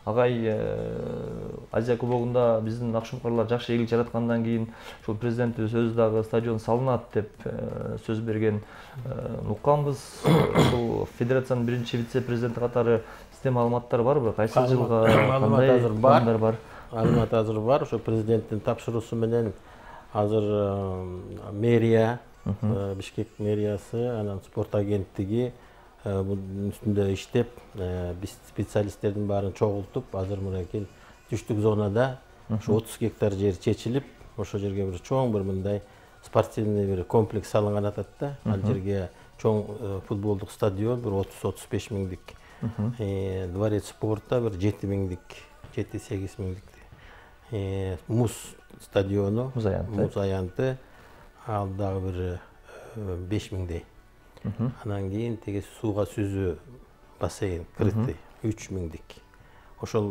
агай Азия кубогунда биздин Акшумкарлар жакшы ийгилик жараткандан кийин ушул президентибиз өзү дагы стадион салынат деп сөз берген укканбыз. Ушул федерациянын биринчи вице-президенти катары сизде маалыматтар барбы? Кайсы жылга кандай пландар бар? Маалымат азыр бар. Ошо президенттин тапшыруусу менен азыр мэрия, Бишкек мэриясы, анан спорт агенттиги bunun üstünde işlep, biz spesialistlerden bарын çoğultup, hazır mırakin düştük zonada şu 30 hektar yer çeçilip, oşo жерге bir çoğun bir mınday sportivный bir kompleks salıngan atatta. Al жерге çoğun futbolduk stadion bir 30-35 minglik, dvaret sportta bir 7 minglik, 7-8 minglik muz stadionu, muz ayantı, al dagı bir 5 mingdey. Анан кийин теги сууга сүзүү бассейн крытый 3 миңдик. Ошол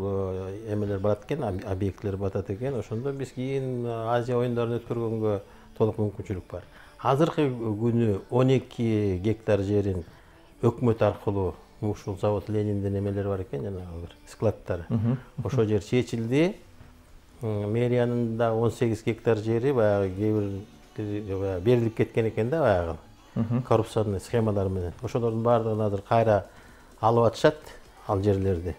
эмелер барат экен, объектлер батат экен. Ошондо биз кийин Азия оюндарын өткөргөнгө толук мүмкүнчүлүк бар. Азыркы күнү 12 гектар жерин өкмөт аркылуу ушул завод Лениндин эмелери бар экен, жанагы бир складдары. Ошол жер чечилди. Мэриянын да 18 гектар жери баягы кээ бир берилип кеткен экен да баягы. Коррупционный схемалар менен. Ошолордун баардыгын азыр кайра алып атышат, ал жерлерди.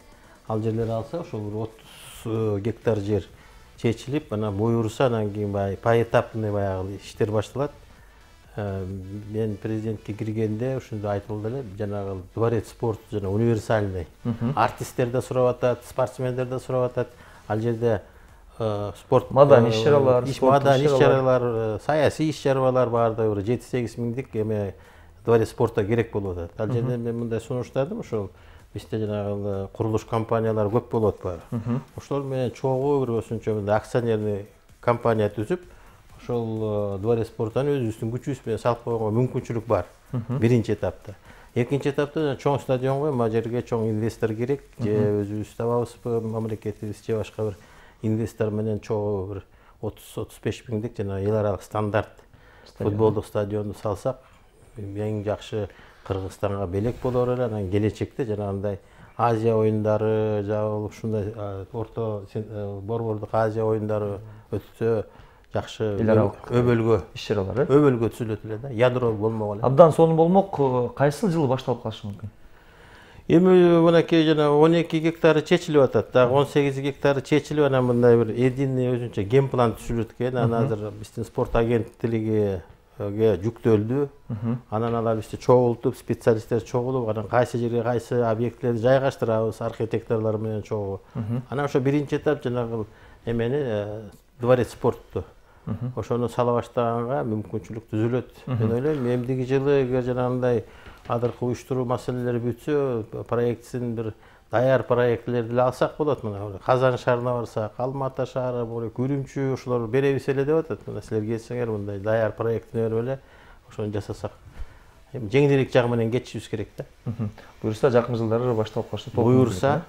Ал жерлерди алса, ошол 30 гектар жер чечилип, анан буюрса, анан кийин поэтапный баягы иштер башталат. Мен президентке киргенде ушунду айтылды эле, жанагы дворец спорт жана универсальный. Артисттер да сурап атат, спортсмендер да сурап атат. Ал жерде sport madan иш-чаралар, саясий иш-чаралар барды 7-8 миңдик эме дворец спортто керек болуп атат. Ал жерде мен мындай сунуштадым, ошол бизде жанагы курулуш компаниялары көп болот бар. Ошолор менен чогуу бир осунча мындай акционерный компания түзүп, ошол дворец спорттун өзүбүздүн күчүбүз менен салып койгонго мүмкүнчүлүк бар. Биринчи этапта. Экинчи этапта чоң стадионго мына жерге чоң инвестор керек, же өзүбүз табабызбы, мамлекетибиз же башка бир инвестор менен чогуу бир 30-35 миңдик жана эл аралык стандарт футболдук стадионду салсак, эң жакшы Кыргызстанга белек болор эле. Анан келечекте жанагындай Азия оюндары, жабыл ушундай орто борбордук Азия оюндары өтсө жакшы эл аралык өбөлгө иш-чаралар, өбөлгө түзүлөт эле да, ядро болмок эле. Абдан сонун болмок. Кайсы жылы башталып калышы мүмкүн? Эми мынакей жана 12 гектары чечилип атат. Дагы 18 гектары чечилип, анан мындай бир эдинный өзүнчө ген план түзүлөт экен. Анан азыр биздин спорт агенттилиге жүктөлдү. Анан алар бизди чогултуп, специалисттер чогулуп, анан кайсы жерге кайсы объектлерди жайгаштырабыз, архитекторлор менен чогуу. Анан ошо биринчи этап жанагы эмени дворец спортту ошону сала баштаганга мүмкүнчүлүк түзүлөт. Мен ойлойм, эмдиги жылы эгер жанагындай адыркы уюштуруу маселелери бүтсө, проектсин бир даяр проектлерди алсак болот. Мына Казан шаарына барсак, Алматы шаары, Үрүмчү, ошолор беребиз эле деп атат. Мына силер келсеңер, мындай даяр проектини берип эле ошону жасасак. Эми жеңилирээк жагы менен кетишибиз керек да. Буюрса жакын жылдары башталып калышы. Буюрса